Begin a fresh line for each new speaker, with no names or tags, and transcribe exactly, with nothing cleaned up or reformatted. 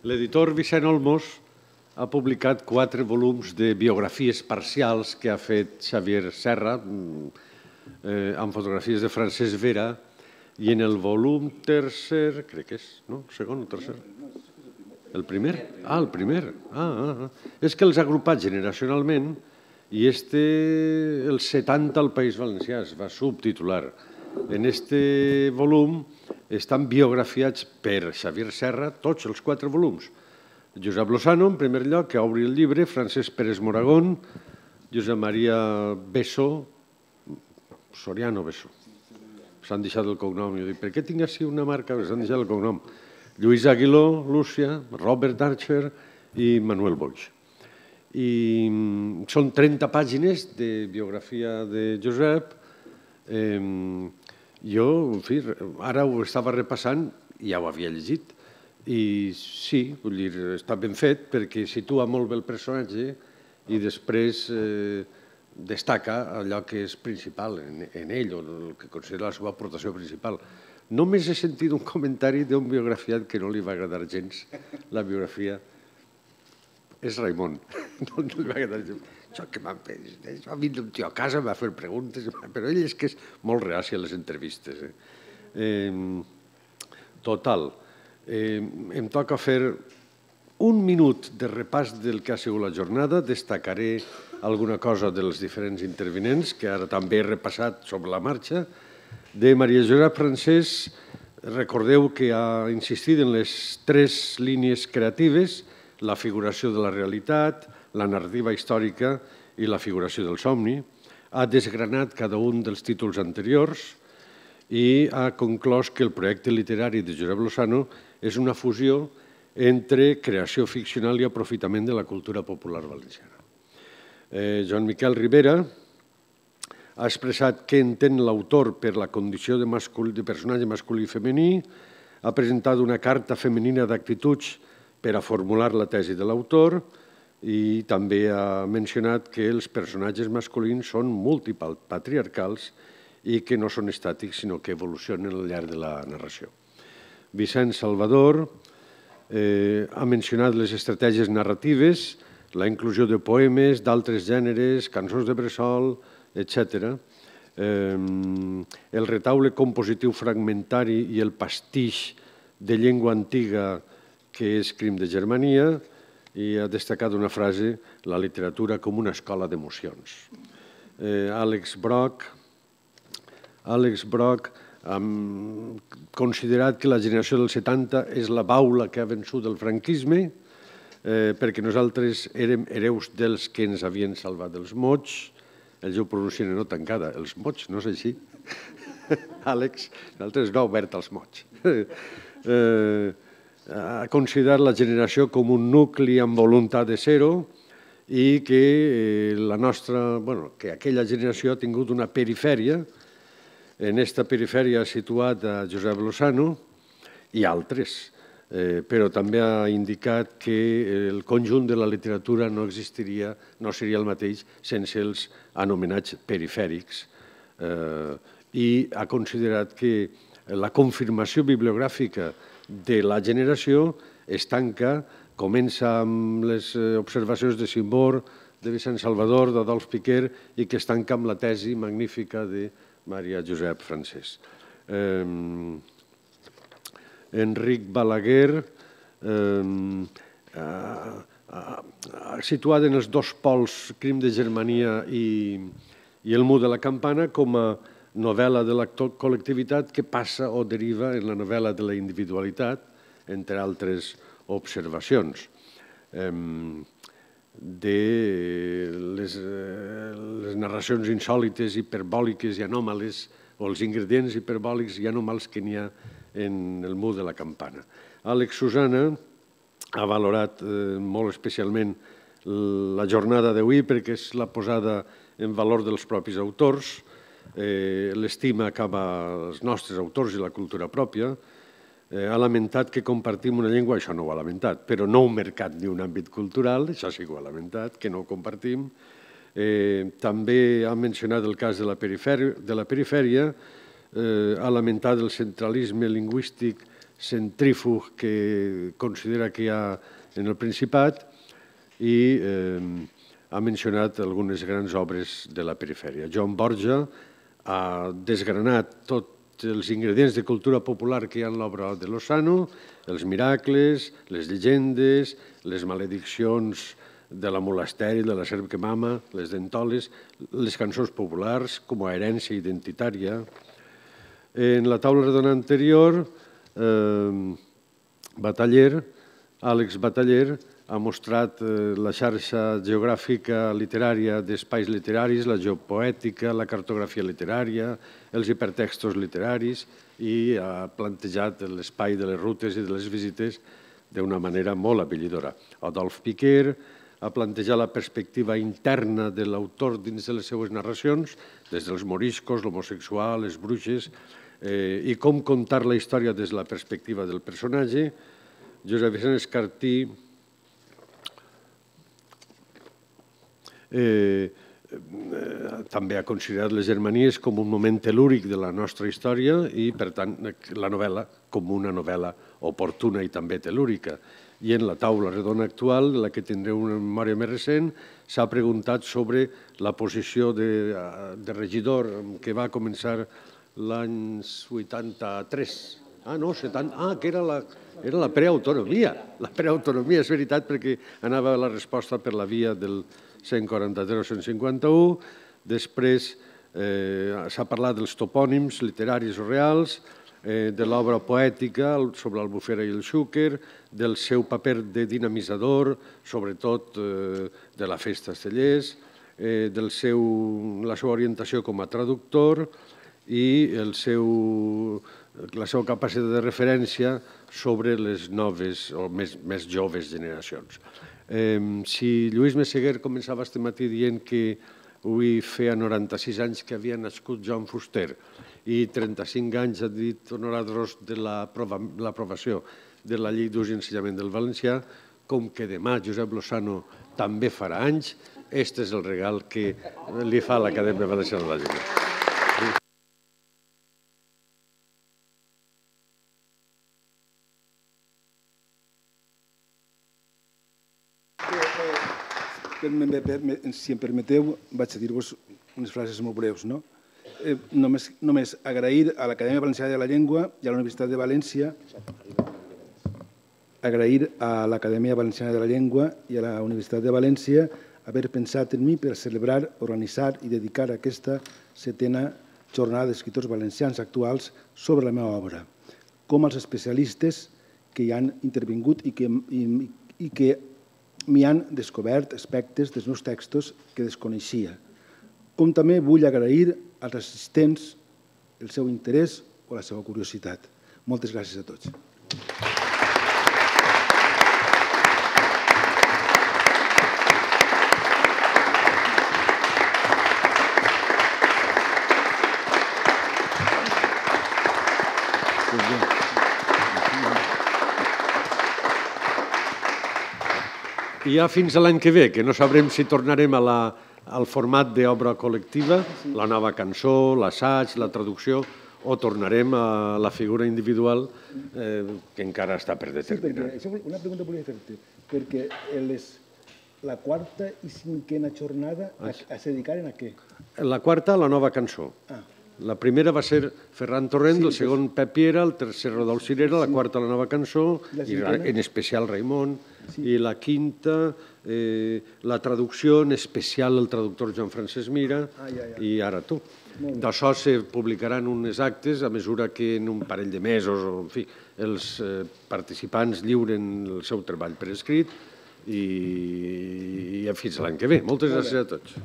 L'editor Vicent Olmos ha publicat quatre volums de biografies parcials que ha fet Xavier Serra, amb fotografies de Francesc Vera, i en el volum tercer, crec que és, no? Segon o tercer? El primer? Ah, el primer. Ah, és que els ha agrupat generacionalment i este, el setanta al País Valencià, es va subtitular. En este volum estan biografiats per Xavier Serra tots els quatre volums. Josep Lozano, en primer lloc, que obri el llibre, Francesc Pérez Moragón, Josep Maria Besso, Soriano Besso. S'han deixat el cognom. Jo dic, per què tinc així una marca? S'han deixat el cognom. Lluís Aguiló, Lúcia, Robert Archer i Manuel Boix. I són trenta pàgines de biografia de Josep. Jo, en fi, ara ho estava repassant i ja ho havia llegit. I sí, vull dir, està ben fet perquè situa molt bé el personatge i després destaca allò que és principal en ell, o el que considera la seva aportació principal. Només he sentit un comentari d'un biografiat que no li va agradar gens, la biografia. És Raimon. No li va agradar gens. Això que m'ha vingut un tio a casa, m'ha fet preguntes, però ell és que és molt reaci a les entrevistes. Total, em toca fer un minut de repàs del que ha sigut la jornada, destacaré alguna cosa dels diferents intervinents, que ara també he repassat sobre la marxa. De Maria Josep Francés, recordeu que ha insistit en les tres línies creatives, la figuració de la realitat, la narrativa històrica i la figuració del somni. Ha desgranat cada un dels títols anteriors i ha conclòs que el projecte literari de Josep Lozano és una fusió entre creació ficcional i aprofitament de la cultura popular valenciana. Joan Miquel Rivera ha expressat què entén l'autor per la condició de personatge masculí i femení, ha presentat una carta femenina d'actituds per a formular la tesi de l'autor i també ha mencionat que els personatges masculins són multipatriarcals i que no són estàtics, sinó que evolucionen al llarg de la narració. Vicent Salvador ha mencionat les estratègies narratives, la inclusió de poemes, d'altres gèneres, cançons de bressol, etcètera. El retaule compositiu fragmentari i el pastix de llengua antiga que és Crim de Germania, i ha destacat una frase, la literatura com una escola d'emocions. Àlex Broch, Àlex Broch ha considerat que la generació del setanta és la baula que ha vençut el franquisme, perquè nosaltres érem hereus dels que ens havien salvat dels mots. Ells ho pronuncien no tancada, els mots, no és així? Àlex, nosaltres no obert als mots. Ha considerat la generació com un nucli amb voluntat de ser-ho i que la nostra, bueno, que aquella generació ha tingut una perifèria. En aquesta perifèria ha situat a Josep Lozano i altres, però també ha indicat que el conjunt de la literatura no existiria, no seria el mateix sense els anomenats perifèrics, i ha considerat que la confirmació bibliogràfica de la generació es tanca, comença amb les observacions de Simbor, de Vicent Salvador, d'Adolf Piquer, i que es tanca amb la tesi magnífica de Maria Josep Francés. Enric Balaguer, situat en els dos pols, Crim de Germania i El mur de la campana, com a novel·la de la col·lectivitat que passa o deriva en la novel·la de la individualitat, entre altres observacions. De les narracions insòlites, hiperbòliques i anòmales, o els ingredients hiperbòlics i anòmals que n'hi ha en el mur de la campana. Àlex Susana ha valorat molt especialment la jornada d'avui perquè és la posada en valor dels propis autors, l'estima cap als nostres autors i la cultura pròpia. Ha lamentat que compartim una llengua, això no ho ha lamentat, però no un mercat ni un àmbit cultural, això sí que ho ha lamentat, que no ho compartim. També ha mencionat el cas de la perifèria, ha lamentat el centralisme lingüístic centrífug que considera que hi ha en el Principat i ha mencionat algunes grans obres de la perifèria. Joan Borja ha desgranat tots els ingredients de cultura popular que hi ha en l'obra de Lozano, els miracles, les llegendes, les malediccions de la molasteri, de la serp que mama, les dentoles, les cançons populars com a herència identitària. En la taula redona anterior, Bataller, Àlex Bataller, ha mostrat la xarxa geogràfica literària d'espais literaris, la geopoètica, la cartografia literària, els hipertextos literaris i ha plantejat l'espai de les rutes i de les visites d'una manera molt abellidora. Adolf Piquer ha plantejat la perspectiva interna de l'autor dins de les seues narracions, des dels moriscos, l'homosexual, les bruixes, i com contar la història des de la perspectiva del personatge. Josep Vicent Escartí també ha considerat les Germanies com un moment telúric de la nostra història i, per tant, la novel·la com una novel·la oportuna i també telúrica. I en la taula redona actual, de la que tindreu una memòria més recent, s'ha preguntat sobre la posició de regidor que va començar l'any vuitanta-tres. Ah, no, setanta... Ah, que era la preautonomia. La preautonomia, és veritat, perquè anava la resposta per la via del cent quaranta-tres o cent cinquanta-u. Després s'ha parlat dels topònims literaris o reals, de l'obra poètica sobre l'Albufera i el Xúquer, del seu paper de dinamitzador, sobretot de la Festa Estellers, de la seva orientació com a traductor i la seva capacitat de referència sobre les noves o més joves generacions. Si Lluís Messeguer començava este matí dient que avui feia noranta-sis anys que havia nascut Joan Fuster i trenta-cinc anys ha dit Honorat Ros de l'aprovació de la llei d'ús i ensenyament del valencià, com que demà Josep Lozano també farà anys, aquest és el regal que li fa l'Acadèmia Valenciana de la Llengua.
Si em permeteu, vaig a dir-vos unes frases molt breus. Només agrair a l'Acadèmia Valenciana de la Llengua i a la Universitat de València agrair a l'Acadèmia Valenciana de la Llengua i a la Universitat de València haver pensat en mi per celebrar, organitzar i dedicar aquesta setena jornada d'escriptors valencians actuals sobre la meva obra, com els especialistes que hi han intervingut i que m'hi han descobert aspectes dels meus textos que desconeixia. Com també vull agrair als assistents el seu interès o la seva curiositat. Moltes gràcies a tots.
I ja fins a l'any que ve, que no sabrem si tornarem al format d'obra col·lectiva, la nova cançó, l'assaig, la traducció, o tornarem a la figura individual que encara està per determinar.
Una pregunta volia fer-te, perquè la quarta i cinquena jornada es dedicaren a què?
La quarta, a la nova cançó. La primera va ser Ferran Torrent, el segon Pep Piera, el tercer Rodolf Cirera, la quarta la nova cançó, i en especial Raimon, i la quinta la traducció, en especial el traductor Joan Francesc Mira, i ara tu. D'això se publicaran unes actes a mesura que en un parell de mesos, en fi, els participants lliuren el seu treball per escrit i fins l'any que ve. Moltes gràcies a tots.